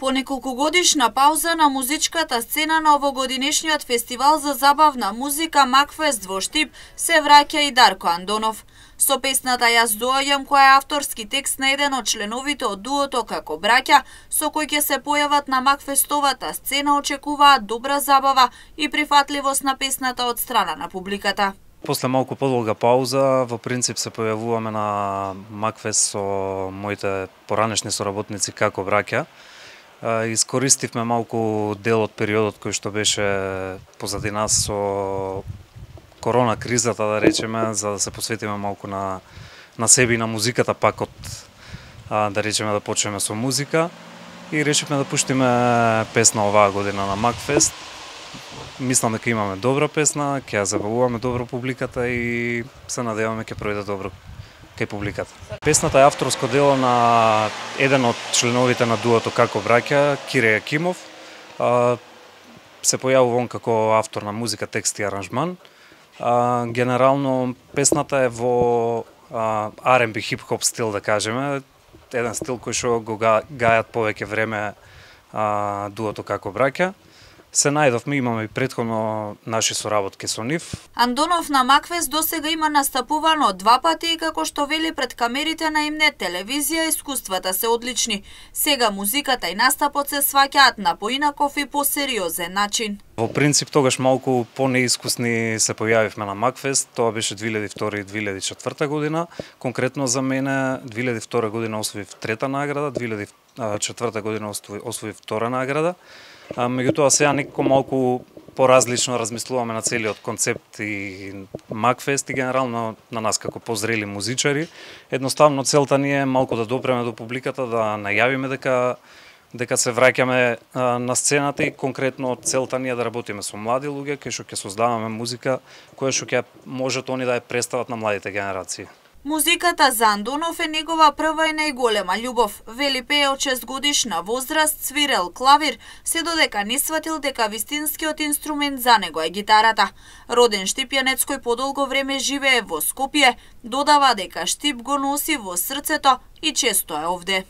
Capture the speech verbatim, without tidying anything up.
По неколкогодишна пауза на музичката сцена на овогодинешниот фестивал за забавна музика Макфест во Штип се враќа и Дарко Андонов. Со песната Јас доаѓам, која е авторски текст на еден од членовите од дуото Како браќа, со кој ќе се појават на Макфестовата сцена, очекуваат добра забава и прифатливост на песната од страна на публиката. После малку подолга пауза, во принцип се појавуваме на Макфест со моите поранешни соработници Како браќа. Искористивме малку дел од периодот кој што беше позади нас со корона кризата, да речеме, за да се посветиме малку на на себе и на музиката, пак од да речеме да почнеме со музика и решивме да пуштиме песна оваа година на Макфест. Мислам дека имаме добра песна, ќе ја забавуваме добро публиката и се надеваме ќе пројде добро кај публиката. Песната е авторско дело на еден од членовите на дуото Како браќа, Кире Јакимов. Се појавува он како автор на музика, текст и аранжман. Генерално песната е во ар енд би хип-хоп стил, да кажеме, еден стил кој што го гајат повеќе време дуото Како браќа. Се најдовме, имаме и претходно наши соработки со нив. Андонов на Макфест досега има настапувано два пати и како што вели пред камерите на Имнет телевизија, искуствата се одлични. Сега музиката и настапот се сваќаат на поинаков и посериозен начин. Во принцип тогаш малку понеискусни се појавивме на Макфест, тоа беше две илјади и втора и две илјади и четврта година. Конкретно за мене две илјади и втора година освоив трета награда, две илјади и четврта година освоив втора награда. Меѓутоа сега некако малку поразлично размислуваме на целиот концепт и Макфест и генерално на нас како позрели музичари. Едноставно целта ни е малку да допреме до публиката, да најавиме дека дека се враќаме на сцената и конкретно целта ни е да работиме со млади луѓе, кај што ќе создаваме музика која што ќе можат они да ја представат на младите генерации. Музиката за Андонов е негова прва и најголема љубов. Вели пее од шестгодишна возраст, свирел клавир, се додека не сватил дека вистинскиот инструмент за него е гитарата. Роден штипјанец кој подолго време живее во Скопје, додава дека Штип го носи во срцето и често е овде.